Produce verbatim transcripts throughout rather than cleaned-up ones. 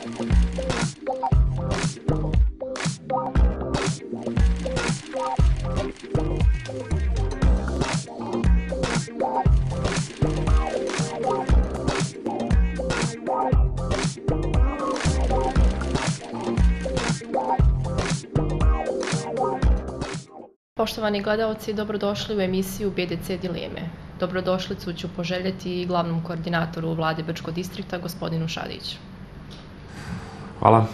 Poštovani gledalci, dobrodošli u emisiju B D C Dileme. Dobrodošlicu ću poželjeti i glavnom koordinatoru Vlade Brčkog distrikta, gospodinu Šadiću. Hvala.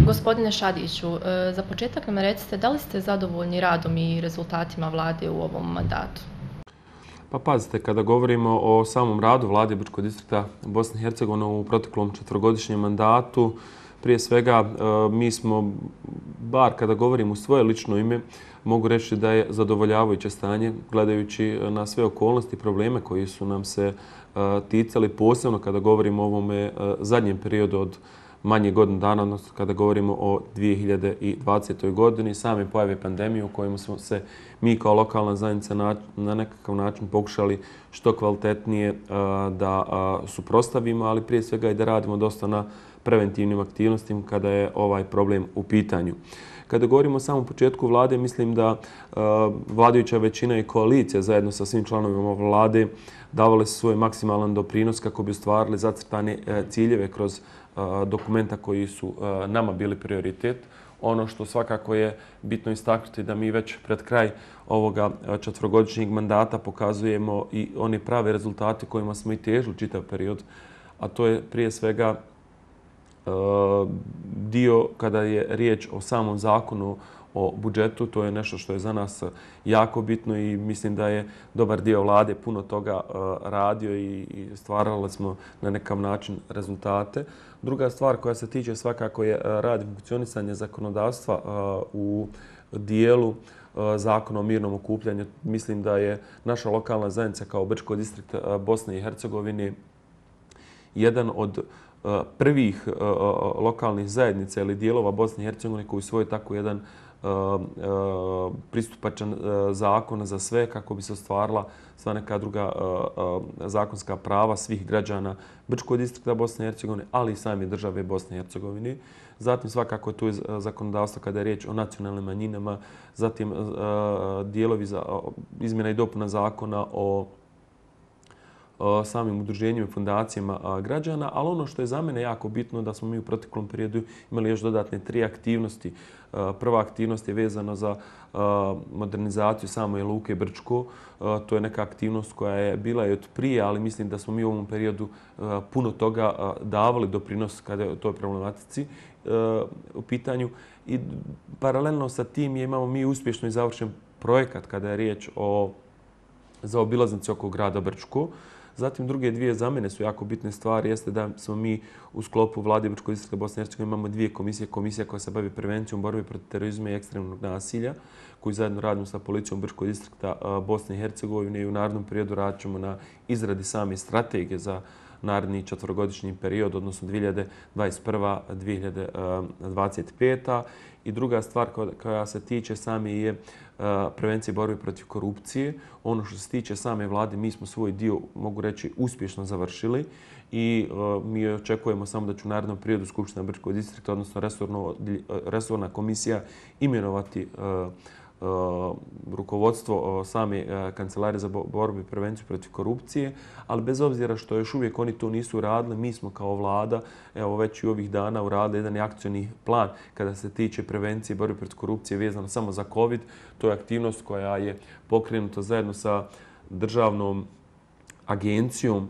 Gospodine Šadiću, za početak nam recite da li ste zadovoljni radom i rezultatima Vlade u ovom mandatu? Pa pazite, kada govorimo o samom radu Vlade Brčkog distrikta Bosne i Hercegovine u proteklom četvorogodišnjem mandatu, prije svega mi smo, bar kada govorim u svoje lično ime, mogu reći da je zadovoljavajuće stanje gledajući na sve okolnosti i probleme koji su nam se ticali, posebno kada govorimo o ovome zadnjem periodu od manje godinu dana, odnosno kada govorimo o dvije hiljade dvadesetoj godini, same pojave pandemije u kojima smo se mi kao lokalna zajednica na, na nekakav način pokušali što kvalitetnije da suprotstavimo, ali prije svega i da radimo dosta na preventivnim aktivnostima kada je ovaj problem u pitanju. Kada govorimo o samom početku vlade, mislim da uh, vladajuća većina i koalicija zajedno sa svim članovima vlade davale su svoj maksimalan doprinos kako bi ostvarili zacrtane uh, ciljeve kroz uh, dokumenta koji su uh, nama bili prioritet. Ono što svakako je bitno istaknuti da mi već pred kraj ovoga četvorogodišnjeg mandata pokazujemo i one prave rezultate kojima smo i težili čitav period, a to je prije svega dio kada je riječ o samom zakonu o budžetu. To je nešto što je za nas jako bitno i mislim da je dobar dio vlade puno toga radio i stvarali smo na nekam način rezultate. Druga stvar koja se tiče svakako je rad i funkcionisanje zakonodavstva u dijelu zakona o mirnom okupljanju. Mislim da je naša lokalna zajednica kao Brčko distrikt Bosne i Hercegovine jedan od prvih lokalnih zajednica ili dijelova Bosne i Hercegovine koji usvoje tako jedan pristupačan zakon za sve kako bi se ostvarila sva neka druga zakonska prava svih građana Brčkog distrikta Bosne i Hercegovine, ali i same države Bosne i Hercegovine. Zatim svakako tu je zakonodavstvo kada je riječ o nacionalnim manjinama, zatim dijelovi za izmjena i dopuna zakona o samim udruženjima i fundacijama građana, ali ono što je za mene jako bitno da smo mi u proteklom periodu imali još dodatne tri aktivnosti. Prva aktivnost je vezana za modernizaciju same luke Brčko. To je neka aktivnost koja je bila i od prije, ali mislim da smo mi u ovom periodu puno toga davali doprinos kada je toj problematici u pitanju. I paralelno sa tim imamo mi uspješno i završen projekat kada je riječ o zaobilaznici oko grada Brčko. Zatim druge dvije za mene su jako bitne stvari, jeste da smo mi u sklopu Vlade Brčkog distrikta Bosne i Hercegovine imamo dvije komisije. Komisija koja se bavi prevencijom borbe protiv terorizma i ekstremnog nasilja, koji zajedno radimo sa policijom Brčkog distrikta Bosne i Hercegovine i u narednom periodu radit ćemo na izradi same strategije za naredni četvorogodišnji period, odnosno dvije hiljade dvadeset prva do dvije hiljade dvadeset peta. I druga stvar koja se tiče same je prevencije borbe protiv korupcije. Ono što se tiče same vlade, mi smo svoj dio, mogu reći, uspješno završili i mi očekujemo samo da će u narednom periodu Skupština Brčkog distrikta, odnosno resorno, resorna komisija, imenovati rukovodstvo same kancelarije za borbu i prevenciju protiv korupcije, ali bez obzira što još uvijek oni to nisu radili, mi smo kao vlada evo već i ovih dana uradili jedan akcioni plan kada se tiče prevencije i borbe protiv korupcije vezano samo za COVID. To je aktivnost koja je pokrenuta zajedno sa državnom agencijom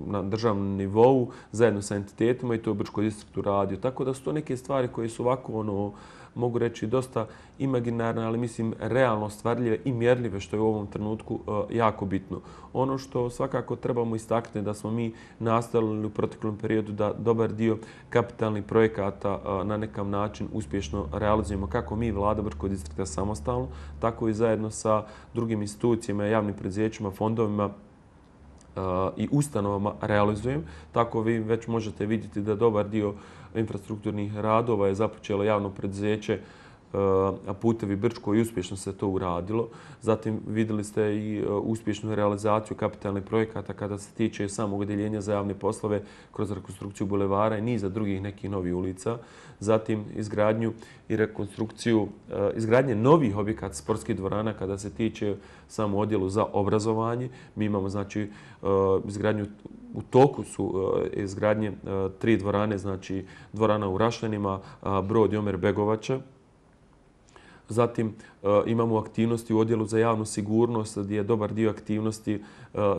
na državnom nivou, zajedno sa entitetima i to je Brčko distriktu radio. Tako da su to neke stvari koje su ovako, ono, mogu reći, dosta imaginarne, ali mislim realno stvarljive i mjerljive, što je u ovom trenutku jako bitno. Ono što svakako trebamo istaknuti da smo mi nastavili u proteklom periodu da dobar dio kapitalnih projekata na nekam način uspješno realizujemo kako mi, Vlada Brčkog distrikta samostalno, tako i zajedno sa drugim institucijama, javnim preduzećima, fondovima i ustanovama realizujem. Tako vi već možete vidjeti da dobar dio infrastrukturnih radova je započelo javno preduzeće putevi Brčko i uspješno se to uradilo. Zatim vidjeli ste i uspješnu realizaciju kapitalnih projekata kada se tiče samog odjeljenja za javne poslove kroz rekonstrukciju bulevara i niza drugih nekih novih ulica. Zatim izgradnju i rekonstrukciju, izgradnje novih objekata sportskih dvorana kada se tiče samo odjelu za obrazovanje. Mi imamo znači izgradnju, u toku su izgradnje tri dvorane, znači dvorana u Rašljanima, Brod i Omer Begovača. Zatim imamo aktivnosti u odjelu za javnu sigurnost gdje je dobar dio aktivnosti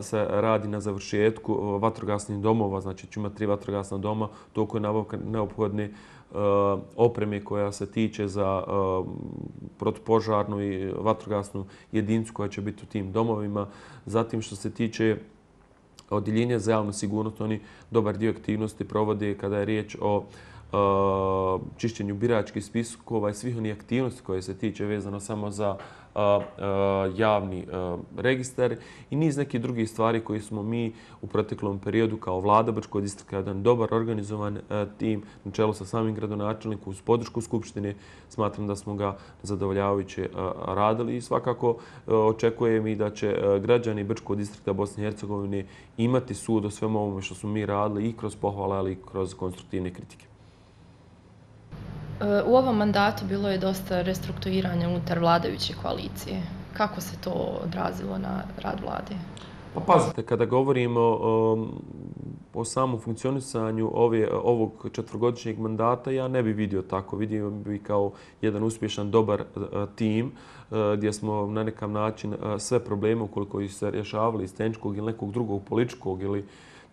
se radi na završetku vatrogasnih domova, znači ću imati tri vatrogasna doma, toliko je nabavka neophodne opreme koja se tiče za protupožarnu i vatrogasnu jedinicu koja će biti u tim domovima. Zatim što se tiče odjeljenja za javnu sigurnost, oni dobar dio aktivnosti provode kada je riječ o čišćenju biračkih spiskova i svih onih aktivnosti koje se tiče vezano samo za javni registar i niz nekih drugih stvari koje smo mi u proteklom periodu kao vlada Brčkog distrikta, jedan dobar organizovan tim na čelu sa samim gradonačelnikom uz podršku Skupštine. Smatram da smo ga zadovoljavajuće radili i svakako očekujem i da će građani Brčkog distrikta Bosne i Hercegovine imati sud o svemu ovome što smo mi radili i kroz pohvale, ali i kroz konstruktivne kritike. U ovom mandatu bilo je dosta restrukturiranja unutar vladajuće koalicije. Kako se to odrazilo na rad vlade? Pa pazite, kada govorimo o, o samom funkcionisanju ove, ovog četvrgodišnjeg mandata, ja ne bi vidio tako. Vidio bi kao jedan uspješan, dobar tim gdje smo na nekam način sve probleme ukoliko ih se rješavali iz tehničkog ili nekog drugog političkog ili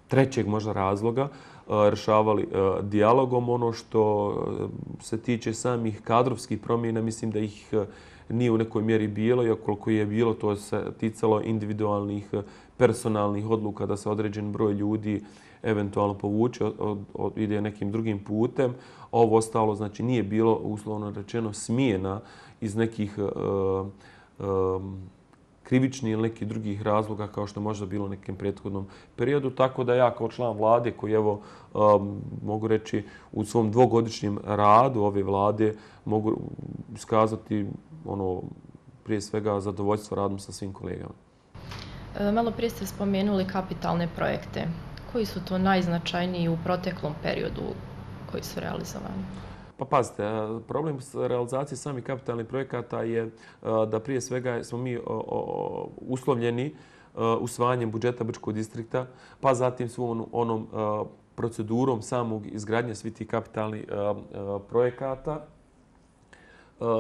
trećeg možda razloga, rješavali dijalogom. Ono što se tiče samih kadrovskih promjena, mislim da ih nije u nekoj mjeri bilo, i koliko je bilo, to se ticalo individualnih personalnih odluka da se određen broj ljudi eventualno povuče, od, od, ide nekim drugim putem. Ovo ostalo znači nije bilo, uslovno rečeno, smjena iz nekih uh, um, krivični ili nekih drugih razloga kao što je možda bilo u nekem prethodnom periodu. Tako da ja kao član vlade koji evo um, mogu reći u svom dvogodišnjem radu ove vlade mogu iskazati ono prije svega zadovoljstvo radom sa svim kolegama. Malo prije ste spomenuli kapitalne projekte. Koji su to najznačajniji u proteklom periodu koji su realizovani? Pa pazite, problem realizacije samih kapitalnih projekata je da prije svega smo mi uslovljeni usvajanjem budžeta Brčkog distrikta, pa zatim svom onom procedurom samog izgradnje svih tih kapitalnih projekata.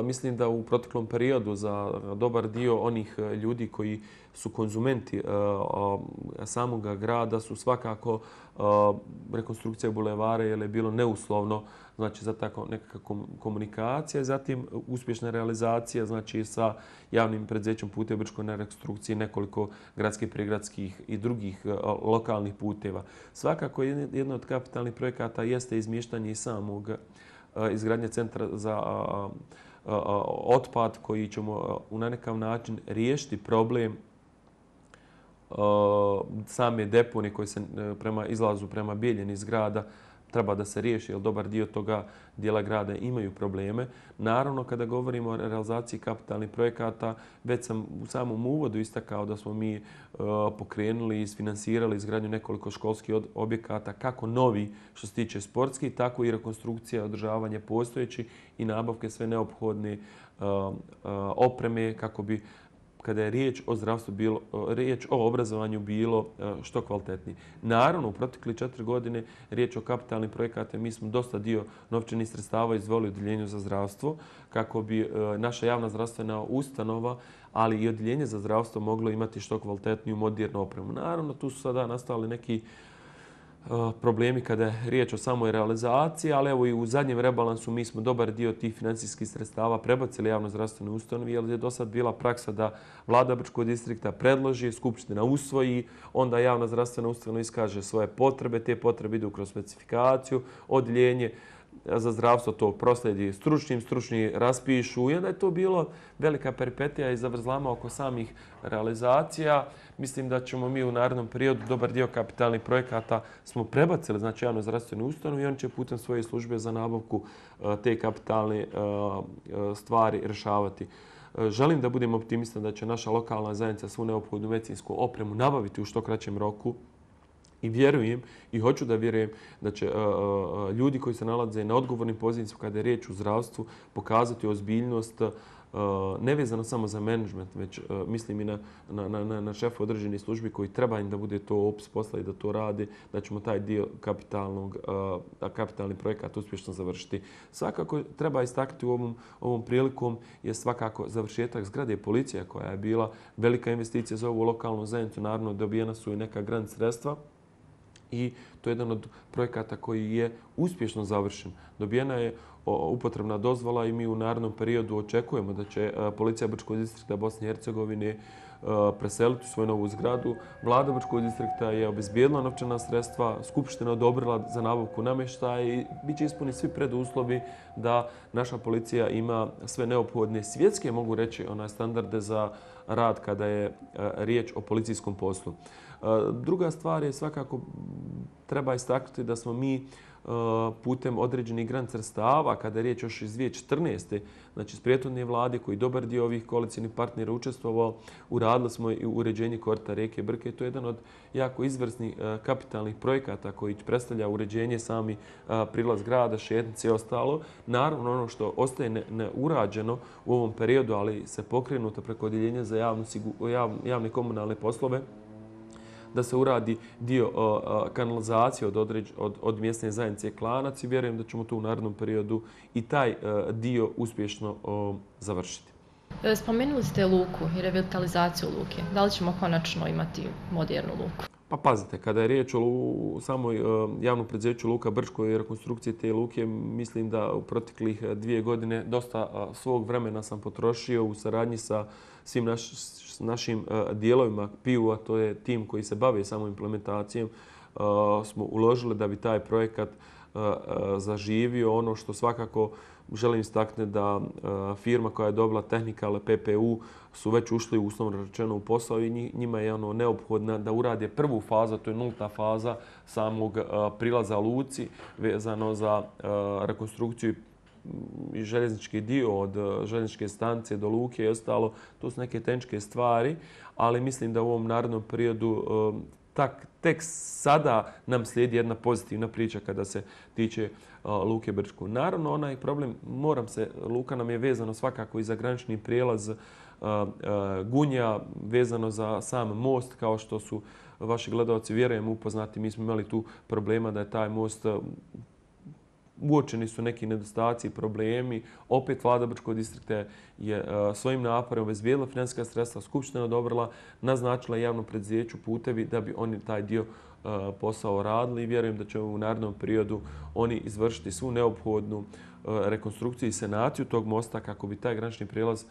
Mislim da u proteklom periodu za dobar dio onih ljudi koji su konzumenti samog grada su svakako rekonstrukcija bulevara jer je bilo neuslovno, znači za tako nekakva komunikacija, zatim uspješna realizacija znači sa javnim preduzećem Putevi Brčko na rekonstrukciji nekoliko gradskih, prigradskih i drugih lokalnih puteva. Svakako jedno od kapitalnih projekata jeste izmještanje i samog izgradnje centra za otpad koji ćemo na nekakav način riješiti problem same deponije koje se prema izlazu prema Bijeljini iz grada treba da se riješi, jer dobar dio toga dijela grada imaju probleme. Naravno, kada govorimo o realizaciji kapitalnih projekata, već sam u samom uvodu istakao da smo mi pokrenuli i isfinansirali izgradnju nekoliko školskih objekata, kako novi što se tiče sportskih, tako i rekonstrukcija, održavanje postojeći i nabavke sve neophodne opreme kako bi kada je riječ o zdravstvu bilo, riječ o obrazovanju bilo što kvalitetniji. Naravno, u protekli četiri godine riječ o kapitalnim projekata, mi smo dosta dio novčanih sredstava izdvojili u odjeljenju za zdravstvo kako bi naša javna zdravstvena ustanova, ali i odjeljenje za zdravstvo moglo imati što kvalitetniju modernu opremu. Naravno, tu su sada nastali neki problemi kada je riječ o samoj realizaciji, ali evo i u zadnjem rebalansu mi smo dobar dio tih financijskih sredstava prebacili javno zdravstvene ustanovi, jer je do sad bila praksa da vlada Brčkog distrikta predloži, Skupština usvoji, onda javna zdravstvena ustanova iskaže svoje potrebe, te potrebe idu kroz specifikaciju, odjeljenje za zdravstvo to prosledi stručnim, stručni raspišu i onda je to bilo velika peripetija i zavrzlama oko samih realizacija. Mislim da ćemo mi u narednom periodu dobar dio kapitalnih projekata smo prebacili, znači javno zdravstvenu ustanovu i oni će putem svoje službe za nabavku te kapitalne stvari rješavati. Želim da budem optimistan da će naša lokalna zajednica svu neophodnu medicinsku opremu nabaviti u što kraćem roku. I vjerujem i hoću da vjerujem da će uh, uh, ljudi koji se nalaze na odgovornim pozicijama kada je riječ u zdravstvu pokazati ozbiljnost uh, nevezano samo za menadžment, već uh, mislim i na, na, na, na šefu određenih službi koji treba im da bude to opis posla i da to radi, da ćemo taj dio kapitalnog, uh, kapitalni projekat uspješno završiti. Svakako treba istaknuti u ovom, ovom prilikom je svakako završetak zgrade policija koja je bila velika investicija za ovu lokalnu zajednicu. Naravno dobijena su i neka grant sredstva. I to je jedan od projekata koji je uspješno završen. Dobijena je upotrebna dozvola i mi u narednom periodu očekujemo da će policija Brčkog distrikta Bosne i Hercegovine preseliti u svoju novu zgradu. Vlada Brčkog distrikta je obezbijedila novčana sredstva, Skupština odobrila za nabavku namještaja i bit će ispuniti svi preduslovi da naša policija ima sve neophodne svjetske, mogu reći, onaj standarde za rad kada je riječ o policijskom poslu. Druga stvar je svakako treba istaknuti da smo mi putem određenih grant sredstava, kada je riječ još iz dvije tisuće četrnaeste. znači s prijetodne vlade koji dobar dio ovih koalicijnih partnera učestvovao, uradili smo i uređenje korita rijeke Brke. To je jedan od jako izvrsnih kapitalnih projekata koji predstavlja uređenje sami prilaz grada, šetnice i ostalo. Naravno, ono što ostaje neurađeno u ovom periodu, ali se pokrenuto preko odjeljenja za javnu, javne komunalne poslove, da se uradi dio uh, kanalizacije od, određ, od, od mjesne zajednice Klanac i vjerujem da ćemo tu u narednom periodu i taj uh, dio uspješno uh, završiti. Spomenuli ste luku i revitalizaciju luke. Da li ćemo konačno imati modernu luku? Pa pazite, kada je riječ o samoj uh, javnom preduzeću Luka Brčko i rekonstrukcije te luke, mislim da u proteklih dvije godine dosta uh, svog vremena sam potrošio u saradnji sa svim naš, našim uh, dijelovima P I U-a, to je tim koji se bavi samom implementacijom, uh, smo uložili da bi taj projekat uh, uh, zaživio. Ono što svakako želim istaknuti da uh, firma koja je dobila Tehnikal P P U su već ušli uslovno rečeno u posao i njima je ono neophodno da urade prvu fazu, to je nulta faza samog uh, prilaza luci vezano za uh, rekonstrukciju i željeznički dio od željezničke stanice do luke i ostalo. To su neke tehničke stvari, ali mislim da u ovom narednom periodu tak, tek sada nam slijedi jedna pozitivna priča kada se tiče uh, Luke Brčko. Naravno, onaj problem, moram se, luka nam je vezano svakako i za granični prijelaz uh, uh, Gunja, vezano za sam most, kao što su vaši gledalci, vjerujem, upoznati. Mi smo imali tu problema da je taj most uh, uočeni su neki nedostaci i problemi. Opet vlada Brčkog distrikta je uh, svojim naporima obezbijedila financijska sredstva, Skupština odobrila, naznačila javnom preduzeću putevi da bi oni taj dio uh, posao radili i vjerujem da će u narednom periodu oni izvršiti svu neophodnu uh, rekonstrukciju i sanaciju tog mosta kako bi taj granični prijelaz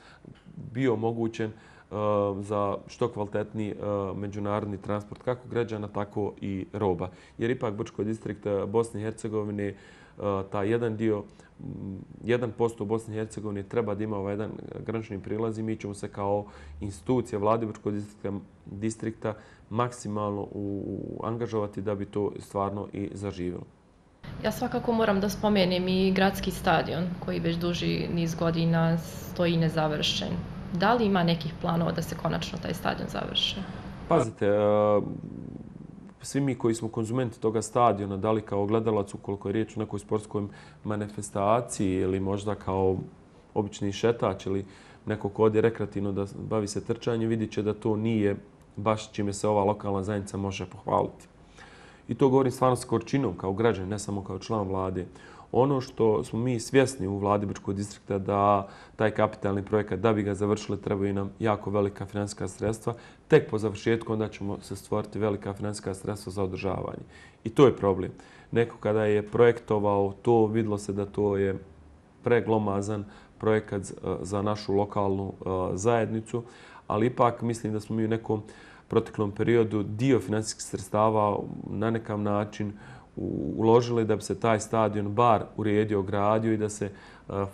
bio omogućen uh, za što kvalitetniji uh, međunarodni transport kako građana, tako i roba. Jer ipak Brčkog distrikta Bosne i Hercegovine taj jedan dio, jedan posto u Bosni i Hercegovini treba da ima ovaj jedan granični prilaz i mi ćemo se kao institucija vlade Brčkog distrikta, distrikta maksimalno u, u angažovati da bi to stvarno i zaživjelo. Ja svakako moram da spomenem i gradski stadion koji već duži niz godina stoji nezavršen. Da li ima nekih planova da se konačno taj stadion završi? Pazite, svi mi koji smo konzumenti toga stadiona, da li kao gledalac ukoliko je riječ o nekoj sportskoj manifestaciji ili možda kao obični šetač ili neko ko ode rekreativno da bavi se trčanjem, vidit će da to nije baš čime se ova lokalna zajednica može pohvaliti. I to govorim stvarno s gorčinom kao građan, ne samo kao član vlade. Ono što smo mi svjesni u vladi Brčkog distrikta da taj kapitalni projekat, da bi ga završili, trebaju nam jako velika financijska sredstva. Tek po završetku onda ćemo se stvoriti velika financijska sredstva za održavanje. I to je problem. Neko kada je projektovao to, vidilo se da to je preglomazan projekat za našu lokalnu zajednicu, ali ipak mislim da smo mi u nekom proteklom periodu dio financijskih sredstava na nekam način uložili da bi se taj stadion bar uredio, gradio i da se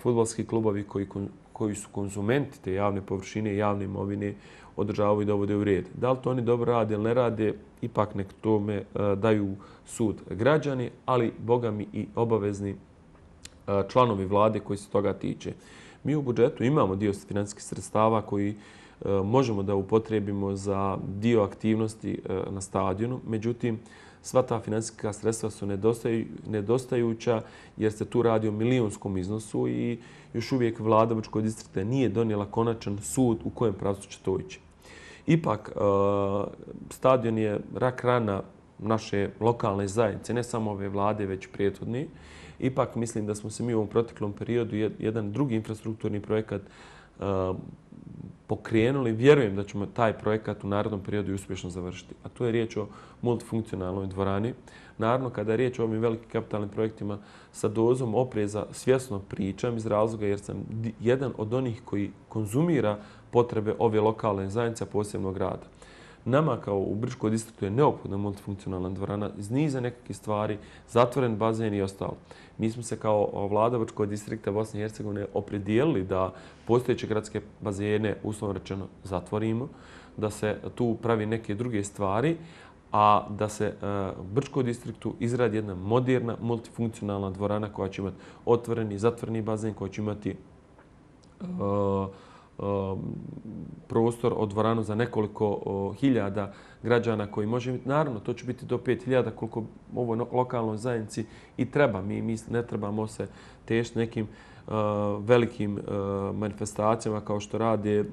fudbalski klubovi koji, koji su konzumenti te javne površine i javne imovine održavaju i dovode u red. Da li to oni dobro rade ili ne rade, ipak nek tome daju sud građani, ali boga mi i obavezni članovi vlade koji se toga tiče. Mi u budžetu imamo dio financijskih sredstava koji možemo da upotrijebimo za dio aktivnosti na stadionu, međutim, sva ta financijska sredstva su nedostajuća jer se tu radi o milijunskom iznosu i još uvijek vlada Brčkog distrikta nije donijela konačan sud u kojem pravcu će to ići. Ipak, stadion je rak rana naše lokalne zajednice, ne samo ove vlade, već prethodni. Ipak mislim da smo se mi u ovom proteklom periodu jedan drugi infrastrukturni projekat pokrenuli. Vjerujem da ćemo taj projekat u narednom periodu uspješno završiti. A tu je riječ o multifunkcionalnoj dvorani. Naravno, kada je riječ o ovim velikim kapitalnim projektima sa dozom opreza, svjesno pričam iz razloga jer sam jedan od onih koji konzumira potrebe ove lokalne zajednice, posebno grada. Nama kao u Brčkom distriktu je neophodna multifunkcionalna dvorana iz niza nekakvih stvari, zatvoren bazen i ostalo. Mi smo se kao vlada Brčkog distrikta Bosne i Hercegovine opredijelili da postojeće gradske bazene, uslovno rečeno, zatvorimo, da se tu pravi neke druge stvari, a da se Brčkom distriktu izradi jedna moderna, multifunkcionalna dvorana koja će imati otvoreni i zatvoreni bazen, koja će imati uh, prostor od dvoranu za nekoliko hiljada građana koji može imati. Naravno, to će biti do pet hiljada koliko ovoj lokalnoj zajednici i treba. Mi, mi ne trebamo se tešiti nekim uh, velikim uh, manifestacijama kao što rade uh,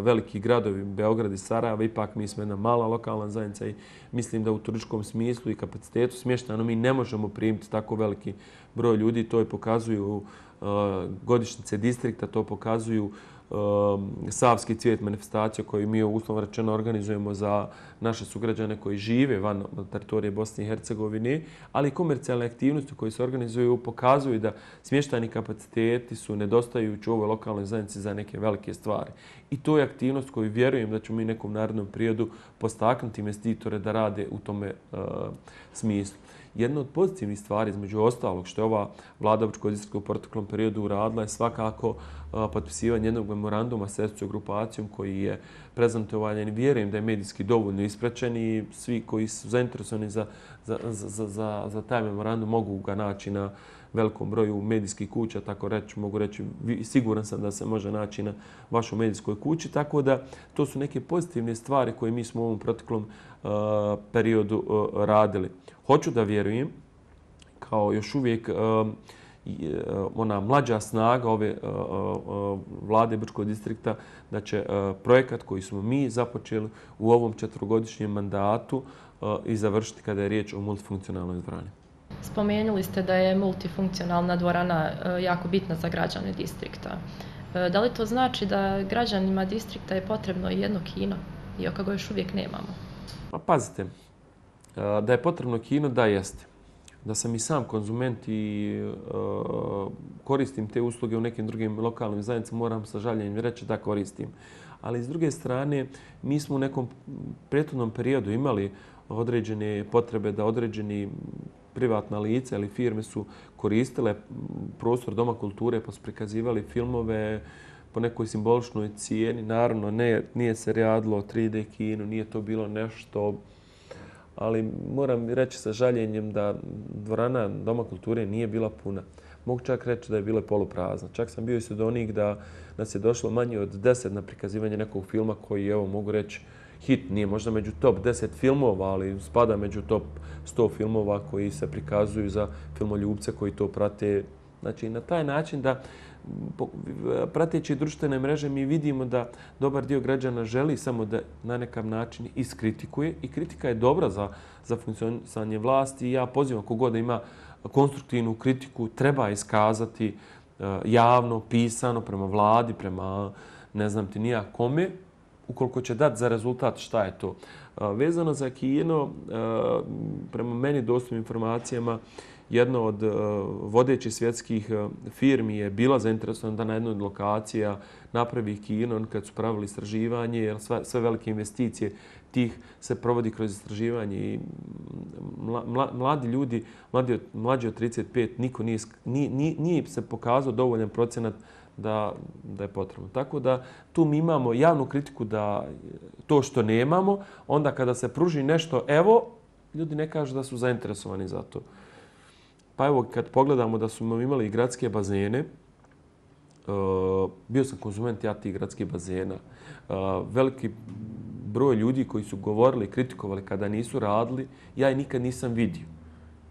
veliki gradovi, Beograd i Sarajeva. Ipak mi smo jedna mala lokalna zajednica i mislim da u turističkom smislu i kapacitetu smještano mi ne možemo primiti tako veliki broj ljudi. To je pokazuju uh, godišnjice distrikta, to pokazuju Savski cvijet manifestacija koju mi uslovno rečeno organizujemo za naše sugrađane koji žive van teritorije Bosne i Hercegovine, ali i komercijalne aktivnosti koje se organizuju pokazuju da smještajni kapaciteti su nedostajući u ovoj lokalnoj zajednici za neke velike stvari. I to je aktivnost koju vjerujem da ćemo mi nekom narednom periodu postaknuti investitore da rade u tome uh, smislu. Jedna od pozitivnih stvari, između ostalog, što je ova vlada Brčkog distrikta u proteklom periodu uradila je svakako potpisivanje jednog memoranduma s Srpskom grupacijom koji je prezentovan i vjerujem da je medijski dovoljno ispraćen i svi koji su zainteresovani za, za, za, za, za taj memorandum mogu ga naći na velikom broju medijskih kuća, tako reći, mogu reći, siguran sam da se može naći na vašoj medijskoj kući, tako da to su neke pozitivne stvari koje mi smo u ovom proteklom uh, periodu uh, radili. Hoću da vjerujem, kao još uvijek uh, ona mlađa snaga ove uh, uh, vlade Brčkog distrikta, da će uh, projekat koji smo mi započeli u ovom četvrogodišnjem mandatu uh, i završiti kada je riječ o multifunkcionalnoj dvorani. Spomenuli ste da je multifunkcionalna dvorana jako bitna za građane distrikta. Da li to znači da građanima distrikta je potrebno i jedno kino, iako ga još uvijek nemamo? Pa pazite, da je potrebno kino, da jeste. Da sam i sam konzument i uh, koristim te usluge u nekim drugim lokalnim zajednicama, moram sa žaljenjem reći da koristim. Ali s druge strane, mi smo u nekom prethodnom periodu imali određene potrebe da određeni privatna lica ili firme su koristile prostor Doma kulture pa su prikazivali filmove po nekoj simboličnoj cijeni. Naravno, ne, nije se radilo o tri D kinu, nije to bilo nešto, ali moram reći sa žaljenjem da dvorana Doma kulture nije bila puna. Mogu čak reći da je bila poluprazna. Čak sam bio i sudionik da nas je došlo manje od deset na prikazivanje nekog filma koji, evo, mogu reći, hit, nije možda među top deset filmova, ali spada među top sto filmova koji se prikazuju za filmoljubce koji to prate. Znači, na taj način da, prateći društvene mreže, mi vidimo da dobar dio građana želi samo da na nekakav način iskritikuje i kritika je dobra za, za funkcionisanje vlasti. Ja pozivam kogod da ima konstruktivnu kritiku, treba iskazati javno, pisano, prema vladi, prema ne znam ti nija kome, ukoliko će dati za rezultat, šta je to? Vezano za kino, prema meni dostupnim informacijama, jedna od vodećih svjetskih firmi je bila zainteresovana da na jednoj od lokacija napravi kino kad su pravili istraživanje, jer sve velike investicije tih se provodi kroz istraživanje i mladi ljudi, mlađi, mlađi od trideset pet, niko nije, nije, nije se pokazao dovoljan procenat da, da je potrebno. Tako da tu mi imamo javnu kritiku da to što nemamo, onda kada se pruži nešto, evo, ljudi ne kažu da su zainteresovani za to. Pa evo, kad pogledamo da smo imali i gradske bazene, uh, bio sam konzument ja tih gradskih bazena. Uh, veliki broj ljudi koji su govorili i kritikovali kada nisu radili, ja ih nikad nisam vidio.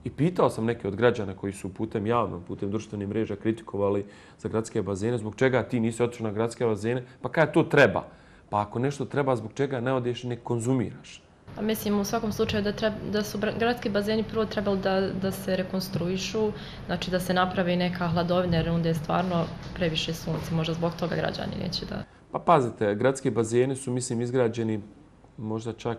I pitao sam neke od građana koji su putem javno, putem društvenih mreža kritikovali za gradske bazene, zbog čega ti nisi otišao na gradske bazene, pa kada to treba? Pa ako nešto treba, zbog čega ne odeš i ne konzumiraš? A mislim u svakom slučaju da, treba, da su gradski bazeni prvo trebali da, da se rekonstruišu, znači da se napravi neka hladovina jer onda je stvarno previše sunce, možda zbog toga građani neće da... Pa pazite, gradski bazeni su mislim izgrađeni možda čak,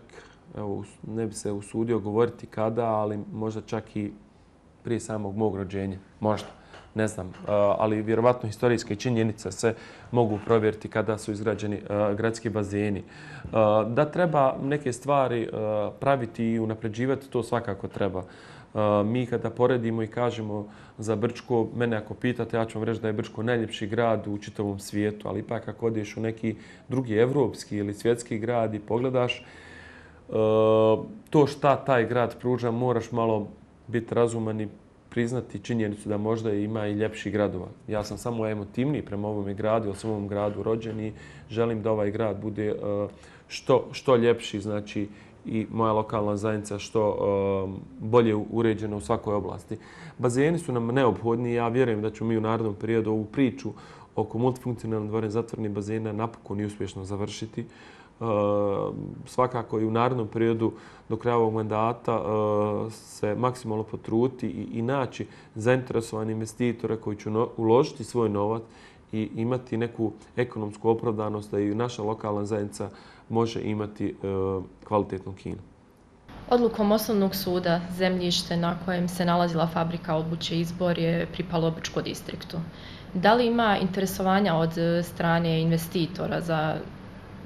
evo, ne bi se usudio govoriti kada, ali možda čak i prije samog mog rođenja, možda. Ne znam, ali vjerovatno historijske činjenice se mogu provjeriti kada su izgrađeni gradski bazeni. Da treba neke stvari praviti i unapređivati, to svakako treba. Mi kada poredimo i kažemo za Brčko, mene ako pitate, ja ću vam reći da je Brčko najljepši grad u čitavom svijetu, ali ipak ako odeš u neki drugi evropski ili svjetski grad i pogledaš to šta taj grad pruža, moraš malo biti razuman i priznati činjenicu da možda ima i ljepših gradova. Ja sam samo emotivniji prema ovom gradu, jer sam u ovom gradu rođen i želim da ovaj grad bude što, što ljepši, znači i moja lokalna zajednica što bolje uređena u svakoj oblasti. Bazeni su nam neophodni i ja vjerujem da ćemo mi u narednom periodu ovu priču oko multifunkcionalnih dvorane zatvorenih bazena napokon i uspješno završiti. Uh, svakako i u narednom periodu do kraja ovog mandata uh, se maksimalno potruti i, i naći zainteresovani investitore koji će no, uložiti svoj novac i imati neku ekonomsku opravdanost da i naša lokalna zajednica može imati uh, kvalitetno kino. Odlukom Osnovnog suda zemljište na kojem se nalazila fabrika obuće Izbor je pripalo Brčko distriktu. Da li ima interesovanja od strane investitora za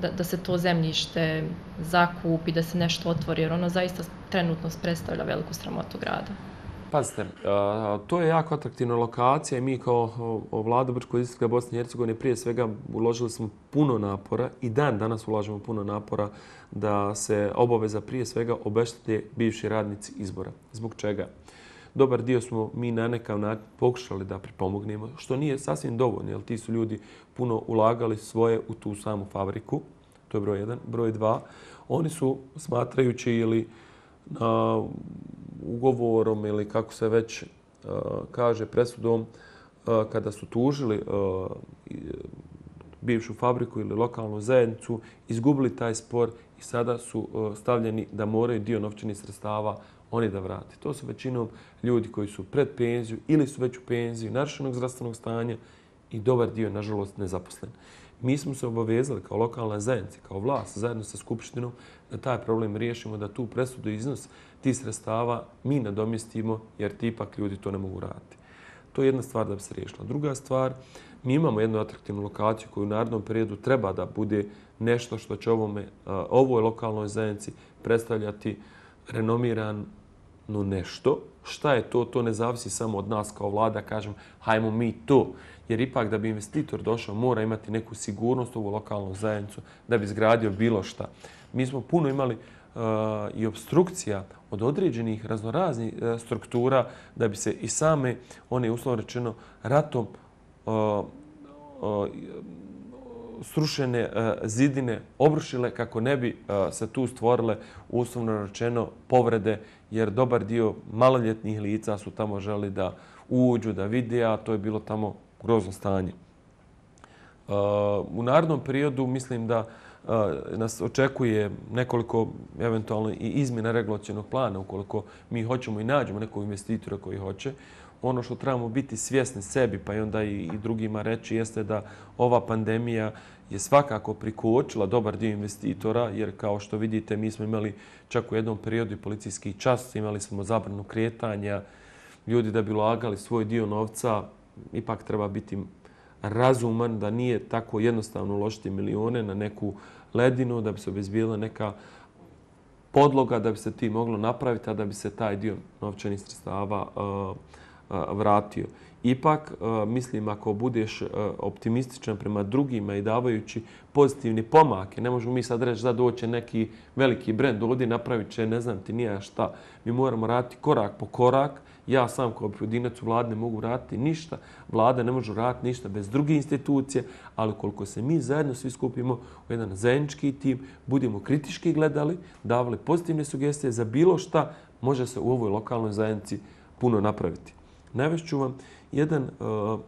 Da, da se to zemljište zakupi, da se nešto otvori, jer ono zaista trenutno predstavlja veliku sramotu grada? Pazite, to je jako atraktivna lokacija i mi kao vlada Brčkog distrikta Bosne i Hercegovine prije svega uložili smo puno napora i dan danas ulažemo puno napora da se obaveza prije svega obeštete bivši radnici Izbora. Zbog čega? Dobar dio smo mi na nekav način pokušali da pripomognemo, što nije sasvim dovoljno, jer ti su ljudi puno ulagali svoje u tu samu fabriku. To je broj jedan. Broj dva, oni su smatrajući ili na ugovorom ili kako se već uh, kaže presudom, uh, kada su tužili uh, bivšu fabriku ili lokalnu zajednicu, izgubili taj spor i sada su uh, stavljeni da moraju dio novčanih sredstava oni da vrati. To su većinom ljudi koji su pred penziju ili su već u penziji, narušenog zdravstvenog stanja i dobar dio, nažalost, nezaposlen. Mi smo se obavezali kao lokalna zajednica, kao vlast, zajedno sa Skupštinom, da taj problem riješimo, da tu presudu iznos tih sredstava mi nadomjestimo, jer ti ipak ljudi to ne mogu raditi. To je jedna stvar da bi se riješila. Druga stvar, mi imamo jednu atraktivnu lokaciju koju u narednom periodu treba da bude nešto što će ovome, ovoj lokalnoj zajednici predstavljati renomirano nešto. Šta je to? To ne zavisi samo od nas kao vlada, kažem, hajmo mi to. Jer ipak da bi investitor došao mora imati neku sigurnost u ovu lokalnu zajednicu da bi izgradio bilo šta. Mi smo puno imali uh, i obstrukcija od određenih raznoraznih uh, struktura da bi se i same, one uslovno rečeno, ratom uh, uh, srušene uh, zidine obrušile kako ne bi uh, se tu stvorile uslovno rečeno povrede, jer dobar dio maloljetnih lica su tamo želi da uđu, da vide, a to je bilo tamo grozno stanje. Uh, u narednom periodu mislim da nas očekuje nekoliko eventualno i izmjena regulacionog plana ukoliko mi hoćemo i nađemo nekog investitora koji hoće. Ono što trebamo biti svjesni sebi pa i onda i drugima reći jeste da ova pandemija je svakako prikočila dobar dio investitora jer kao što vidite mi smo imali čak u jednom periodu i policijski čas, imali smo zabranu kretanja, ljudi da bi ulagali svoj dio novca ipak treba biti razuman da nije tako jednostavno uložiti milione na neku ledinu da bi se obezbijedila neka podloga da bi se ti moglo napraviti, a da bi se taj dio novčanih sredstava uh, uh, vratio. Ipak, uh, mislim, ako budeš uh, optimističan prema drugima i davajući pozitivne pomake, ne možemo mi sad reći da doće neki veliki brend ovdje, napravit će, ne znam ti nije šta. Mi moramo raditi korak po korak. Ja sam kao pojedinac u vladi ne mogu raditi ništa. Vlada ne može raditi ništa bez druge institucije, ali koliko se mi zajedno svi skupimo u jedan zajednički tim, budemo kritički gledali, davali pozitivne sugestije za bilo šta, može se u ovoj lokalnoj zajednici puno napraviti. Navešću vam jedan uh,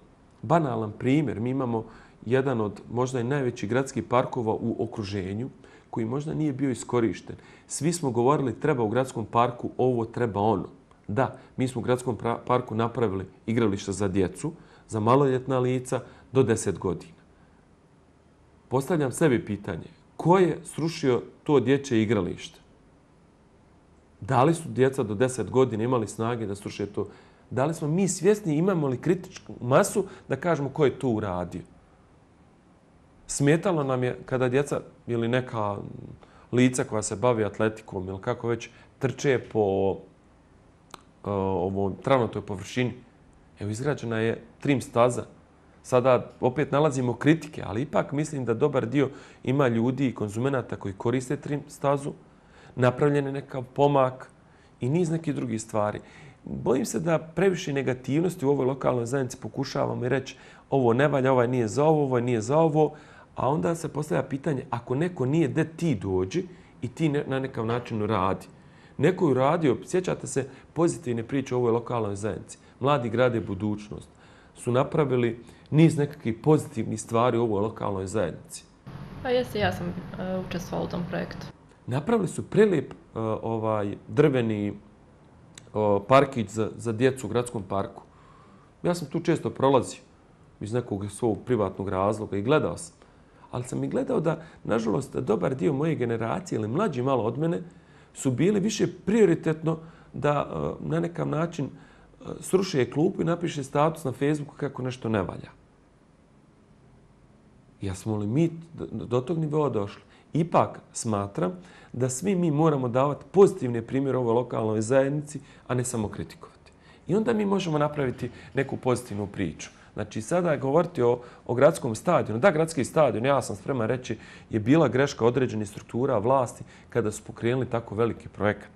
banalan primjer. Mi imamo jedan od možda i najvećih gradskih parkova u okruženju koji možda nije bio iskorišten. Svi smo govorili treba u gradskom parku ovo, treba ono. Da, mi smo u gradskom parku napravili igrališta za djecu, za maloljetna lica do deset godina. Postavljam sebi pitanje, ko je srušio to dječje igralište? Da li su djeca do deset godina imali snage da sruše to? Da li smo mi svjesni, imamo li kritičku masu da kažemo ko je to uradio? Smetalo nam je kada djeca ili neka lica koja se bavi atletikom ili kako već trče po ovom travnatoj površini. Evo, izgrađena je trim staza. Sada opet nalazimo kritike, ali ipak mislim da dobar dio ima ljudi i konzumenata koji koriste trim stazu, napravljen je nekav pomak i niz nekih drugih stvari. Bojim se da previše negativnosti u ovoj lokalnoj zajednici pokušavamo i reći ovo ne valja, ovaj nije za ovo, ovaj nije za ovo, a onda se postavlja pitanje ako neko nije gde ti dođi i ti na nekav način radi. Neko je uradio, sjećate se pozitivne priče o ovoj lokalnoj zajednici. Mladi grade budućnost su napravili niz nekakvih pozitivnih stvari u ovoj lokalnoj zajednici. Pa jeste, ja sam uh, učestvovala u tom projektu. Napravili su prelijep uh, ovaj, drveni uh, parkić za, za djecu u gradskom parku. Ja sam tu često prolazio iz nekog svog privatnog razloga i gledao sam. Ali sam i gledao da, nažalost, dobar dio moje generacije ili mlađi malo od mene su bili više prioritetno da uh, na nekav način uh, sruše klupu i napiše status na Facebooku kako nešto ne valja. Ja smo li mi do, do tog nivoa došli? Ipak smatram da svi mi moramo davati pozitivne primjere ovoj lokalnoj zajednici, a ne samo kritikovati. I onda mi možemo napraviti neku pozitivnu priču. Znači, sada govoriti o, o gradskom stadionu. Da, gradski stadion, ja sam spreman reći, je bila greška određenih struktura vlasti kada su pokrenuli tako veliki projekat.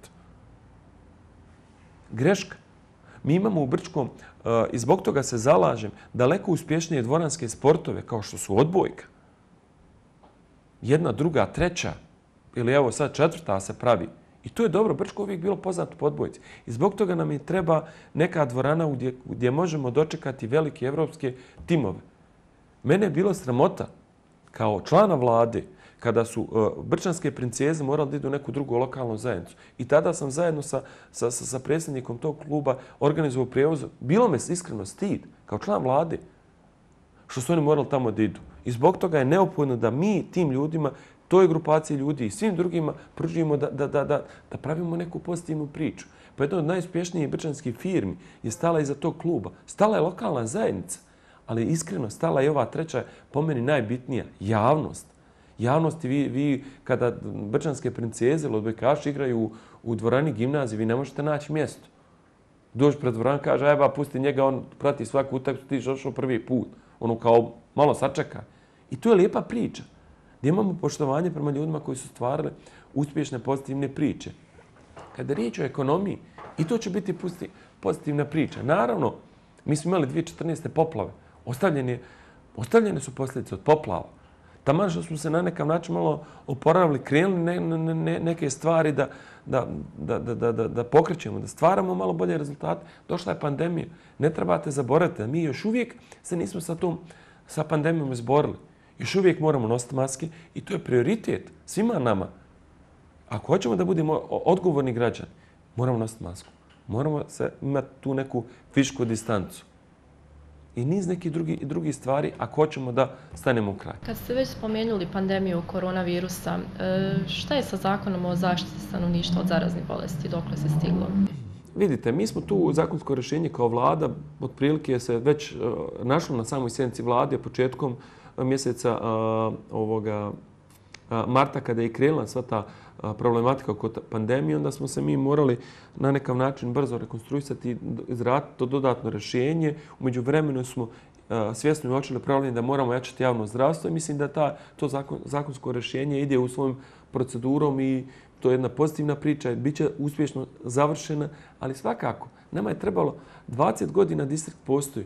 Greška. Mi imamo u Brčkom, uh, i zbog toga se zalažem, daleko uspješnije dvoranske sportove kao što su odbojka. Jedna, druga, treća ili evo sad četvrta se pravi. I to je dobro. Brčko uvijek bilo poznato po odbojci. I zbog toga nam je treba neka dvorana gdje, gdje možemo dočekati velike evropske timove. Mene je bilo sramota kao člana vlade kada su uh, brčanske princeze morali da idu u neku drugu lokalnu zajednicu. I tada sam zajedno sa, sa, sa, sa predsjednikom tog kluba organizovao prijevoz. Bilo me iskreno stid kao član vlade što su oni morali tamo da idu. I zbog toga je neophodno da mi tim ljudima, toj grupaciji ljudi i svim drugima pružimo da, da, da, da, da pravimo neku pozitivnu priču. Pa jedna od najuspješnijih brčanskih firmi je stala iza tog kluba. Stala je lokalna zajednica, ali iskreno stala je ova treća, po meni najbitnija, javnost. Javnosti, vi, vi kada brčanske princeze ili odbojkaši igraju u, u dvorani gimnazije, vi ne možete naći mjesto. Dođe pred dvoran, kaže, ajba, pusti njega, on prati svaku utakmicu, ti došao prvi put. Ono kao malo sačeka. I to je lijepa priča. Gdje imamo poštovanje prema ljudima koji su stvarali uspješne pozitivne priče. Kada je riječ o ekonomiji, i to će biti pozitivna priča. Naravno, mi smo imali dvije tisuće četrnaeste poplave. Ostavljene, ostavljene su posljedice od poplava. Taman što smo se na nekav način malo oporavili, krenuli ne, ne, ne, neke stvari da, da, da, da, da, da pokrećemo, da stvaramo malo bolje rezultate. Došla je pandemija. Ne trebate zaboraviti da mi još uvijek se nismo sa tom sa pandemijom izborili. Još uvijek moramo nositi maske i to je prioritet svima nama. Ako hoćemo da budemo odgovorni građani, moramo nositi masku. Moramo se imati tu neku fizičku distancu. I niz nekih drugi, drugi stvari ako hoćemo da stanemo u kraj. Kad ste već spomenuli pandemiju koronavirusa, šta je sa zakonom o zaštiti stanovništva od zaraznih bolesti? Dokle se stiglo? Vidite, mi smo tu zakonsko rješenje kao vlada, otprilike se već našlo na samoj sjednici vlade početkom mjeseca ovoga marta kada je krenula sva ta problematika oko pandemije, onda smo se mi morali na nekav način brzo rekonstruisati i izraditi to dodatno rješenje. U međuvremenu smo svjesno uočili problem da moramo jačati javno zdravstvo i mislim da ta, to zakon, zakonsko rješenje ide u svojom procedurom i to je jedna pozitivna priča i bit će uspješno završena, ali svakako nama je trebalo dvadeset godina distrikt postoji.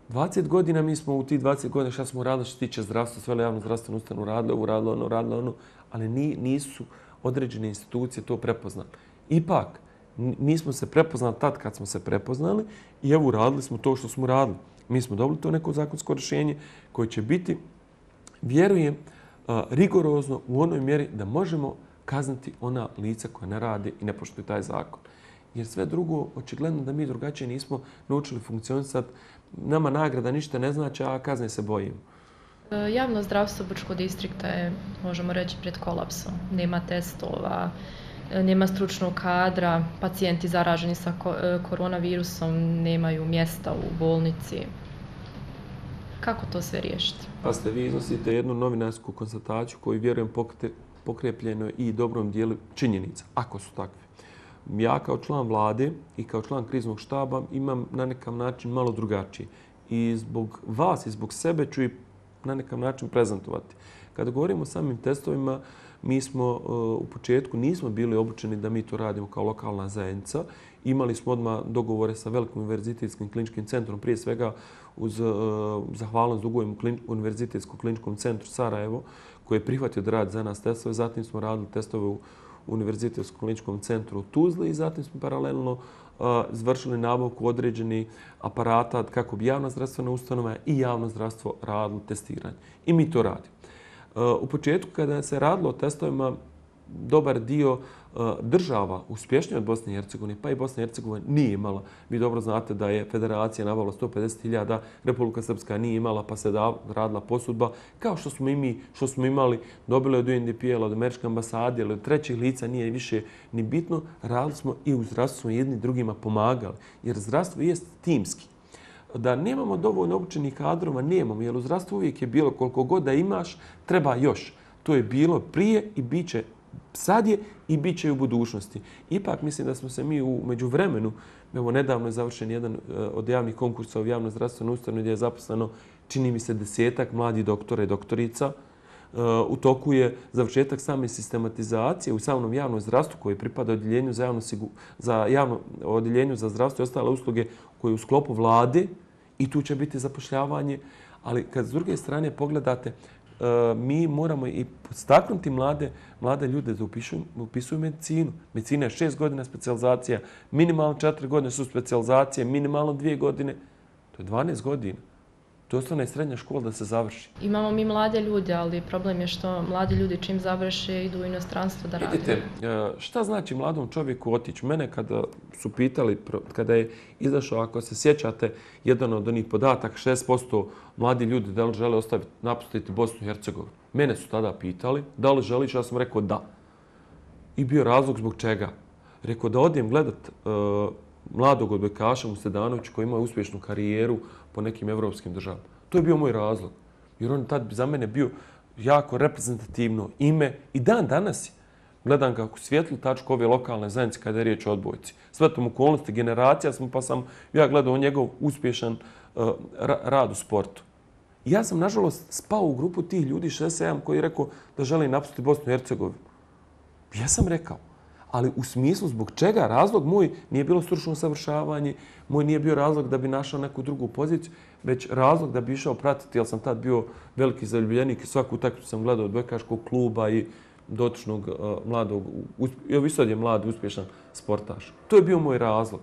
dvadeset godina mi smo u tih dvadeset godina šta smo radili što se tiče zdravstva, sve javno zdravstveno ustanovu radili, ovo radili, ono radili, ono, ali nisu određene institucije to prepoznali. Ipak, mi smo se prepoznali tad kad smo se prepoznali i evo radili smo to što smo radili. Mi smo dobili to neko zakonsko rješenje koje će biti, vjerujem, rigorozno u onoj mjeri da možemo kazniti ona lica koja ne rade i ne poštuju taj zakon. Jer sve drugo, očigledno da mi drugačije nismo naučili funkcionisati. Nama nagrada ništa ne znači, a kazne se bojimo. Javno zdravstvo Brčkog distrikta je, možemo reći, pred kolapsom. Nema testova, nema stručnog kadra, pacijenti zaraženi sa koronavirusom nemaju mjesta u bolnici. Kako to sve riješiti? Pa ste vi iznosite jednu novinarsku konstataciju koju vjerujem pokrepljeno i dobrom dijelu činjenica, ako su takve. Ja kao član vlade i kao član kriznog štaba imam na nekav način malo drugačije. I zbog vas i zbog sebe ću i na nekav način prezentovati. Kada govorimo o samim testovima, mi smo u početku nismo bili obučeni da mi to radimo kao lokalna zajednica. Imali smo odmah dogovore sa Velikim univerzitetskim kliničkim centrom, prije svega uz zahvalnost dugujem Univerzitetskom kliničkom centru Sarajevo, koji je prihvatio da radi za nas testove. Zatim smo radili testove u Univerzitetskom kliničkom centru u Tuzli i zatim smo paralelno izvršili nabavku određenih aparata kako bi javna zdravstvena ustanova i javno zdravstvo radilo testiranje. I mi to radimo. U početku kada se radilo o testovima, dobar dio država uspješnije od Bosne i Hercegovine, pa i Bosna i Hercegovina nije imala. Vi dobro znate da je federacija nabavila sto pedeset hiljada, Republika Srpska nije imala, pa se radila posudba. Kao što smo i mi, što smo imali, dobili od U N D P L, od Američke ambasade ili od trećih lica, nije više ni bitno. Radili smo i u zdravstvu smo jedni drugima pomagali, jer zdravstvo je timski. Da nemamo dovoljno obučenih kadrova, nemamo, jer u zdravstvu uvijek je bilo koliko god da imaš, treba još. To je bilo prije i bit će sad je i bit će u budućnosti. Ipak mislim da smo se mi u međuvremenu, evo nedavno je završen jedan od javnih konkursa u javno zdravstveno ustanovi gdje je zaposleno, čini mi se, desetak mladih doktora i doktorica. U toku je završetak same sistematizacije u samom javnom zdravstvu koji pripada odjeljenju za javno, za javno odjeljenju za zdravstvo i ostale usluge koje je u sklopu vlade i tu će biti zapošljavanje. Ali kad s druge strane pogledate, mi moramo i podstaknuti mlade, mlade ljude da upisuju, upisuju medicinu. Medicina je šest godina specijalizacija, minimalno četiri godine su specijalizacije, minimalno dvije godine. To je dvanaest godina. To je osnovna i srednja škola da se završi. Imamo mi mlade ljude, ali problem je što mladi ljudi čim završe idu u inostranstvo da rade. Vidite, šta znači mladom čovjeku otići? Mene kada su pitali, kada je izašao, ako se sjećate, jedan od onih podataka, šest posto mladi ljudi da li žele ostaviti, napustiti Bosnu i Hercegovinu. Mene su tada pitali da li želiš, ja sam rekao da. I bio razlog zbog čega. Rekao da odijem gledat uh, mladog odbojkaša Musledanovića koji ima uspješnu karijeru po nekim evropskim državama. To je bio moj razlog. Jer on tad za mene bio jako reprezentativno ime i dan danas je. Gledam kako svijetlu tačku ove lokalne zajednice kada je riječ o odbojci. Svetom okolnosti, generacija smo, pa sam ja gledao njegov uspješan uh, rad u sportu. I ja sam, nažalost, spao u grupu tih ljudi šezdeset sedam koji je rekao da želi napustiti Bosnu i Hercegovinu. Ja sam rekao. Ali u smislu zbog čega razlog moj nije bilo stručno usavršavanje, moj nije bio razlog da bi našao neku drugu poziciju, već razlog da bi išao pratiti, jer sam tad bio veliki zaljubljenik i svaku utakmicu sam gledao od odbojkaškog kluba i dotičnog uh, mladog, evo i sad je mlad, uspješan sportaš. To je bio moj razlog.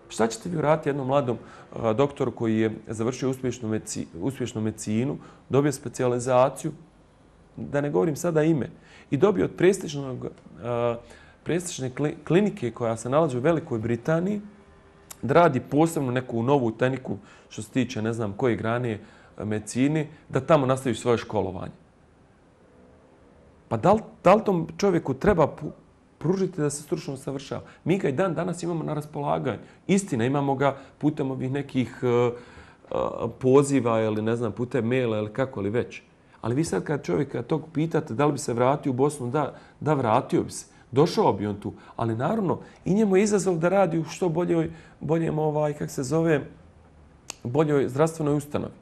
Šta ćete vi vratiti jednom mladom a, doktoru koji je završio uspješnu, medici, uspješnu medicinu, dobio specijalizaciju, da ne govorim sada ime, i dobio od prestižnog, a, prestižne klinike koja se nalazi u Velikoj Britaniji, da radi posebno neku novu tehniku što se tiče ne znam koje grane medicine, da tamo nastavi svoje školovanje. Pa da li, da li tom čovjeku treba pružiti da se stručno usavršava? Mi ga i dan danas imamo na raspolaganju. Istina, imamo ga putem ovih nekih uh, uh, poziva ili ne znam, putem maila ili kako li već. Ali vi sad kad čovjeka tog pitate da li bi se vratio u Bosnu, da, da vratio bi se. Došao bi on tu. Ali naravno, i njemu je izazov da radi u što boljoj, boljem, ovaj, kak se zove, boljoj zdravstvenoj ustanovi.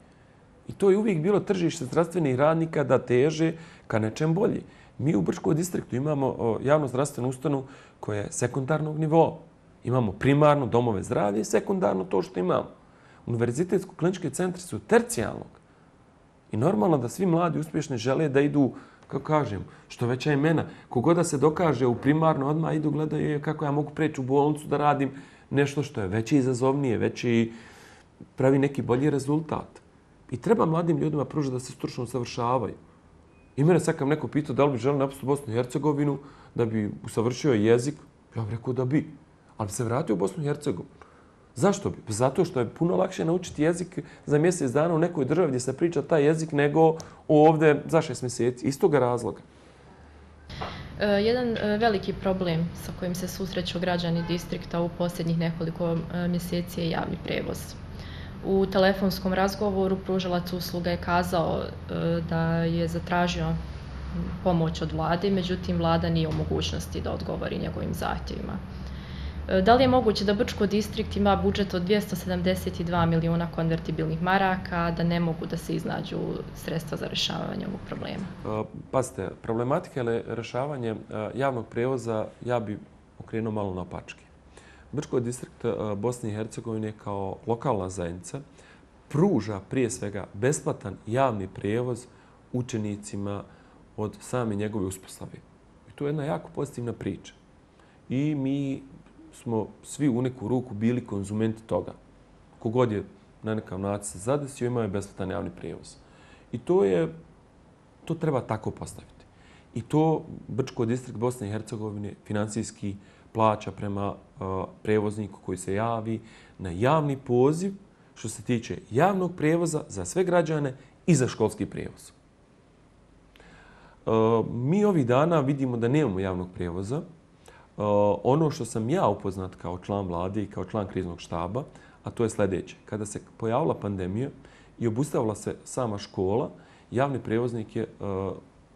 I to je uvijek bilo tržište zdravstvenih radnika da teže ka nečem bolji. Mi u Brčkom distriktu imamo javno zdravstvenu ustanovu koja je sekundarnog nivoa. Imamo primarno domove zdravlja i sekundarno to što imamo. Univerzitetsko-klinički centri su tercijalnog. I normalno da svi mladi uspješni žele da idu, kako kažem, što veća imena. Kogoda se dokaže u primarno, odmah idu gledaju kako ja mogu preći u bolnicu da radim nešto što je veće izazovnije, veći pravi neki bolji rezultat. I treba mladim ljudima pružiti da se stručno usavršavaju. I mene sad kad neko pitao da li bi želio napustiti Bosnu i Hercegovinu, da bi usavršio jezik, ja bih rekao da bi. Ali bi se vratio u Bosnu i Hercegovinu. Zašto bi? Zato što je puno lakše naučiti jezik za mjesec dana u nekoj državi gdje se priča taj jezik nego ovdje za šest mjeseci. Iz toga razloga. Jedan veliki problem sa kojim se susreću građani distrikta u posljednjih nekoliko mjeseci je javni prevoz. U telefonskom razgovoru pružalac usluga je kazao da je zatražio pomoć od vlade, međutim vlada nije u mogućnosti da odgovori njegovim zahtjevima. Da li je moguće da Brčko distrikt ima budžet od dvjesto sedamdeset dva milijuna konvertibilnih maraka, da ne mogu da se iznađu sredstva za rješavanje ovog problema? Pazite, problematika je rješavanje javnog prevoza, ja bi okrenuo malo na opačke. Brčko distrikt Bosne i Hercegovine kao lokalna zajednica pruža prije svega besplatan javni prijevoz učenicima od same njegove uspostave. I to je jedna jako pozitivna priča. I mi smo svi u neku ruku bili konzumenti toga. Kogod je na nekav način se zadesio, imao je besplatan javni prijevoz. I to je, to treba tako postaviti. I to Brčko distrikt Bosne i Hercegovine financijski plaća prema uh, prevozniku koji se javi na javni poziv što se tiče javnog prijevoza za sve građane i za školski prijevoz. Uh, mi ovih dana vidimo da nemamo javnog prijevoza. Uh, ono što sam ja upoznat kao član vlade i kao član kriznog štaba, a to je sljedeće. Kada se pojavila pandemija i obustavila se sama škola, javni prijevoznik je uh,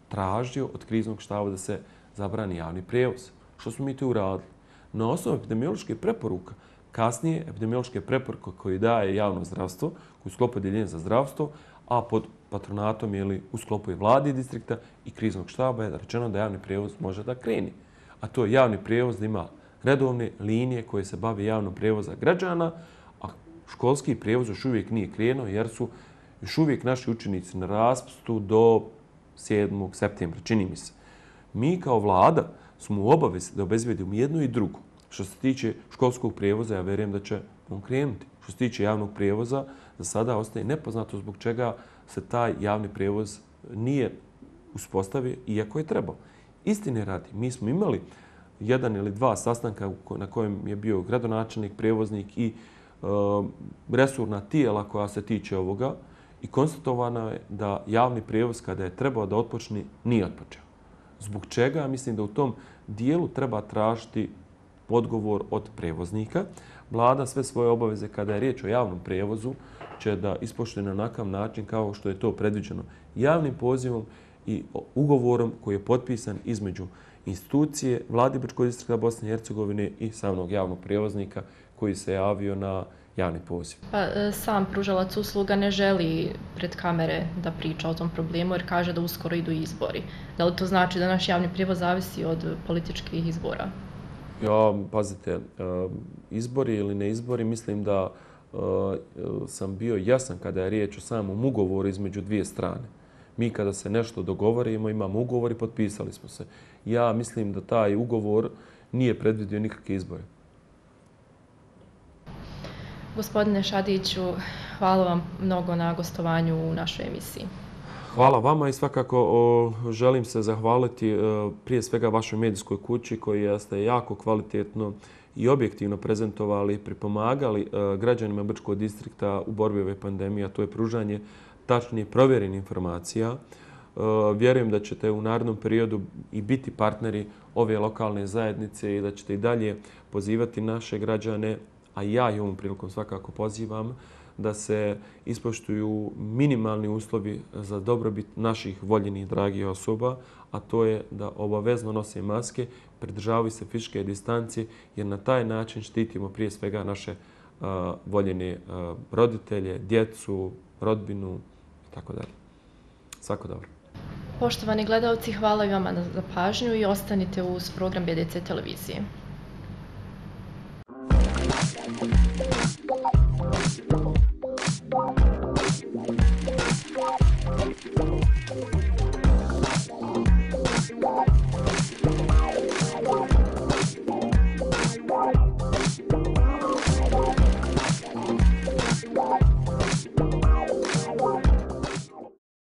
tražio od kriznog štaba da se zabrani javni prijevoz. Što smo mi to uradili? Na osnovu epidemiološke preporuka, kasnije epidemiološke preporuke koje daje javno zdravstvo, koji u sklopu odjeljenja za zdravstvo, a pod patronatom ili u sklopu i vlade distrikta i kriznog štaba je rečeno da javni prijevoz može da kreni. A to je javni prijevoz da ima redovne linije koje se bave javnom prijevoza građana, a školski prijevoz još uvijek nije krenuo jer su još uvijek naši učenici na raspustu do sedmog septembra, čini mi se. Mi kao vlada smo u obavezi da obezbedimo jedno i drugo. Što se tiče školskog prijevoza, ja vjerujem da će on krenuti. Što se tiče javnog prijevoza, za sada ostaje nepoznato zbog čega se taj javni prijevoz nije uspostavio, iako je trebao. Istine radi, mi smo imali jedan ili dva sastanka na kojem je bio gradonačelnik, prijevoznik i e, resurna tijela koja se tiče ovoga i konstatovano je da javni prijevoz kada je trebao da otpočne, nije otpočeo. Zbog čega? Mislim da u tom dijelu treba tražiti odgovor od prevoznika. Vlada sve svoje obaveze kada je riječ o javnom prijevozu će da ispoštuje na onakav način kao što je to predviđeno javnim pozivom i ugovorom koji je potpisan između institucije Vlade Brčkog distrikta Bosne i Hercegovine i samog javnog prijevoznika koji se javio na javni poziv. Pa, sam pružalac usluga ne želi pred kamere da priča o tom problemu jer kaže da uskoro idu izbori. Da li to znači da naš javni prijevoz zavisi od političkih izbora? Ja, pazite, izbori ili ne izbori, mislim da sam bio jasan kada je riječ o samom ugovoru između dvije strane. Mi kada se nešto dogovorimo, imamo ugovor i potpisali smo se. Ja mislim da taj ugovor nije predvidio nikakve izbore. Gospodine Šadiću, hvala vam mnogo na gostovanju u našoj emisiji. Hvala vama i svakako o, želim se zahvaliti o, prije svega vašoj medijskoj kući koji ste jako kvalitetno i objektivno prezentovali, pripomagali o, građanima Brčkog distrikta u borbi ove pandemije, a to je pružanje tačnije provjerenih informacija. O, vjerujem da ćete u narednom periodu i biti partneri ove lokalne zajednice i da ćete i dalje pozivati naše građane, a ja i ovom prilikom svakako pozivam, da se ispoštuju minimalni uslovi za dobrobit naših voljenih dragih osoba, a to je da obavezno nose maske, pridržavaju se fizičke distancije, jer na taj način štitimo prije svega naše uh, voljene uh, roditelje, djecu, rodbinu i tako dalje. Svako dobro. Poštovani gledalci, hvala i vama za pažnju i ostanite uz program B D C televizije.